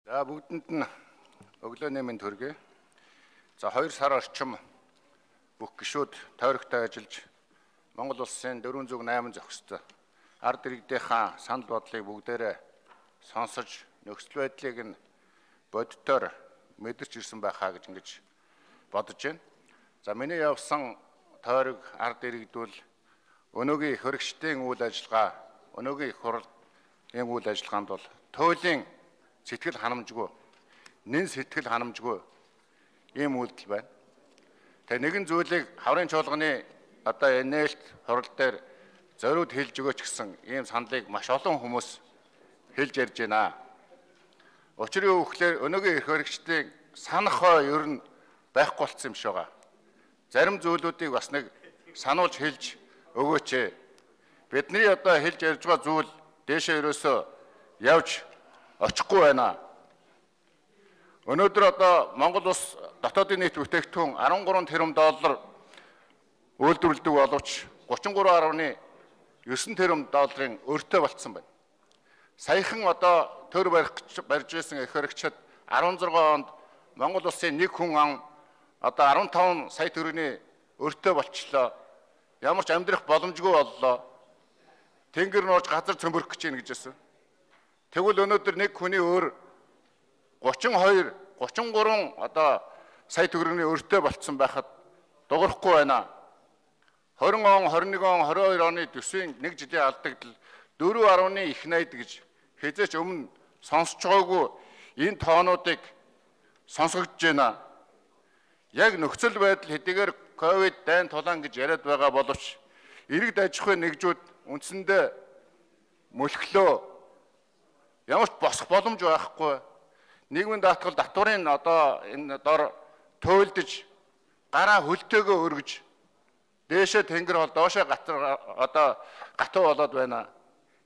За бүгдэнд нь өглөө нэмийн төргий. За 2 сар орчим бүх гишүүд тойрогтой ажиллаж Монгол улсын 408 зохистой ард иргэдийнхаа санал бодлыг бүгдээрээ сонсож нөхцөл байдлыг нь бодитоор мэдэрч ирсэн байхаа гэж ингэж бодож байна. За миний явсан тойрог ард иргэдүүл өнөөгийн хөрөгчдийн үйл ажиллагаа, өнөөгийн их хурлын үйл ажиллагаанд бол туйлын сэтгэл ханамжгүй, нэн сэтгэл ханамжгүй ийм үйлдэл байна. Тэгээ нэгэн зүйлийг хаврын чуулганы одоо нээлт хурал дээр зориуд хэлж өгөөч гэсэн ийм саналыг маш олон хүмүүс хэлж ярьж байна. Учир юу гэхээр өнөөгийн их хөрөгчдийн санах хой ер нь байхгүй болсон юм шиг байгаа. Зарим зүйлүүдийг бас нэг сануулж хэлж өгөөч. Бидний одоо хэлж ярьж байгаа зүйл дээшээ ерөөсөө явж очихгүй байна. Өнөөдөр одоо Монгол улс дотоодын нийт бүтээгдэхүүн 13 тэрбум доллар үйлдвэрлэдэг боловч 33.9 тэрбум долларын өртөө болцсон байна. Саяхан одоо төр барьж байсан их хөрөгчд 16 онд Монгол улсын нэг хүн ан одоо 15 сая төгрөгийн өртөө болчлоо. Ямар ч амьдрах боломжгүй боллоо. Тэнгэр нууж газар цөмбөрөх гэж байна гэж байсан. Тэгвэл өнөөдөр нэг хүний өөр 33 одоо сая төгрөгийн өртөө болцсон байхад дуурахгүй байна. 20 он, 21 он, 22 оны төсвийн нэг жилийн алдагдал 4.1 их найд гэж хэзээч өмнө сонсож байгаагүй энэ тоонуудыг сонсогдож байна. Яг нөхцөл байдал хэдийгээр ковид дайн тулаан гэж яриад байгаа боловч иргэд аж ахуйн нэгжүүд үндсэндээ мөлхлөө ямар ч босох боломж байхгүй. Нийгмийн даатгал татварын одоо энэ дор туйлдж гараа хөлтөөгөө өргөж дээшээ тэнгэр бол доошоо одоо гатуу болоод байна.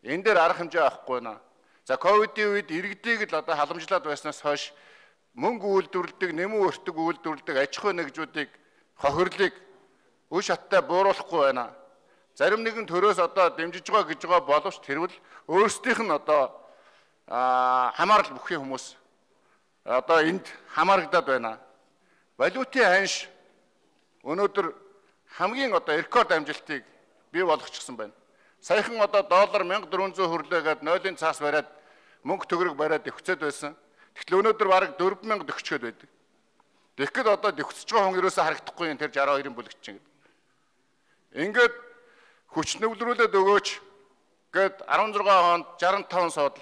Энэ дээр арга хэмжээ авахгүй байна. За ковидын үед иргэдийг л одоо халамжлаад байснаас хойш мөнгө үйлдвэрлэдэг, нэмүү өртөг үйлдвэрлэдэг аж ахуйн нэгжүүдийг хохирлыг үе шаттай бууруулахгүй байна. Зарим нэгэн төрөөс одоо дэмжиж байгаа гэж байгаа боловч тэрвэл өөрсдийнх нь одоо хамаарал бүхий хүмүүс одоо энд хамаарагдаад байна. Валютын ханш өнөөдөр хамгийн одоо рекорд амжилтыг бий болгочихсон байна. Саяхан одоо доллар 1400 хүрлээгээд 0-ын цаас бариад мөнгө төгрөг бариад өвчөд байсан. Тэгтэл өнөөдөр бараг 4000 төгчгöd байдаг. Тэгэхэд одоо дэвхсэж байгаа хүн ерөөсөө харагдахгүй юм тэр 62-ын бүлэгч чинь. Ингээд хүч нөвлөрүүлээд өгөөч гээд 16 онд 65 суудал,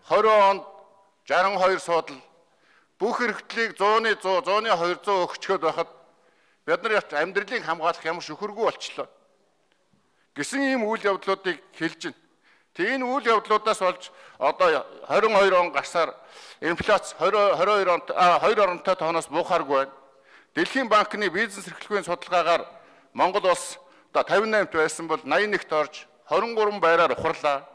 20 онд 62 суудал бүх хэрэгтлийг 100-ны 100, 100-ны 200 өгчгöd байхад бид нар амьдралыг хамгаалах ямар шөхөргүй болчлоо. Гэсэн ийм үйл явдлуудыг хэлж байна. Тэг энэ үйл явдлуудаас болж одоо 22 он гарсаар инфляц 22 онт 2 оронтой тооноос буухааргүй байна. Дэлхийн банкны бизнес эрхлэлийн судалгаагаар Монгол улс одоо 58-т байсан бол 81-т орж 23 байраар ухарлаа.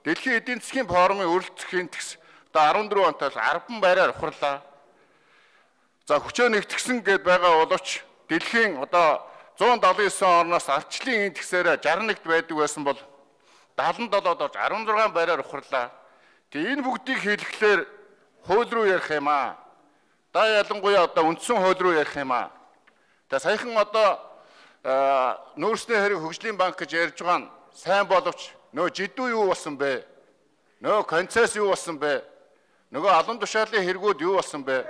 Дэлхийн эдийн засгийн форумын өрөлдөх индекс одоо 14 онтой 10 байраар ухарлаа. За хүчээ нэгтгсэн гэд байгаа боловч дэлхийн одоо 179 орноос ардчлалын индексээр 61-д байдаг байсан бол 77-д орж 16 байраар ухарлаа. Тэгээ энэ бүгдийг хэлэхлээр хууль руу ярих юм аа. Да ялангуяа одоо үндсэн хууль руу ярих юм аа. Тэгээ саяхан одоо нөөцийн хэрэг хөгжлийн банк гэж ярьж байгаа нь сайн боловч нөө жидүү юу болсон бэ? Нөө концесс юу болсон бэ? Нөгөө алан тушаалын хэрэгүүд юу болсон бэ?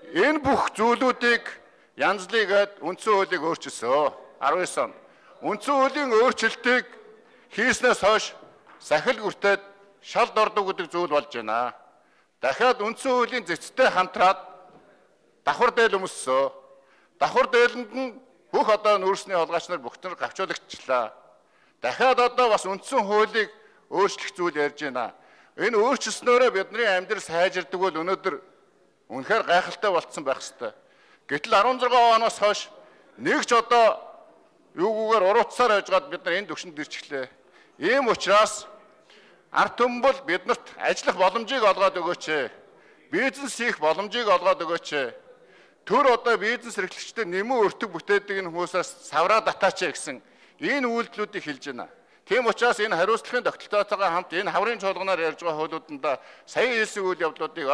Энэ бүх зүйлүүдийг янзлыгээд үндсэн хуулийг өөрчилсөн 19 он. Үндсэн хуулийн өөрчлөлтийг хийснээс хойш сахил гүртээд шал дордог гэдэг зүйл болж байна. Дахиад үндсэн хуулийн зэцтэй хамтраад давхар дээл өмссөн. Давхар дээлэнд нь бүх одоо нүүрсний холгооч нар бүгд гавчуулагчлаа. Дахиад одоо бас үндсэн хуулийг өөрчлөх зүйл ярьж байна. Энэ өөрчлөснөөрөө бидний амьдрал сайжирдаг бол өнөөдөр үнэхээр гайхалтай болцсон байх ёстой. Гэтэл 16 оноос хойш нэг ч одоо юугүйгээр уруутсаар яжгаад бид нар энэ төвшөнд ирчихлээ. Ийм учраас ард түмэн биднэрт ажиллах боломжийг олгоод өгөөч. Бизнес хийх боломжийг олгоод өгөөч. Төр одоо бизнес эрхлэгчдэд нэмүү өртөг бүтээдэг энэ хүмүүсээс савраа татаач гэсэн энэ үйлдэлүүдийг хэлж байна. Тийм учраас энэ хариуцлагын тогтолцоотойгоо хамт энэ хаврын чуулганаар ярьж байгаа хуулиуданд сая хэлсэн үйл явдлуудыг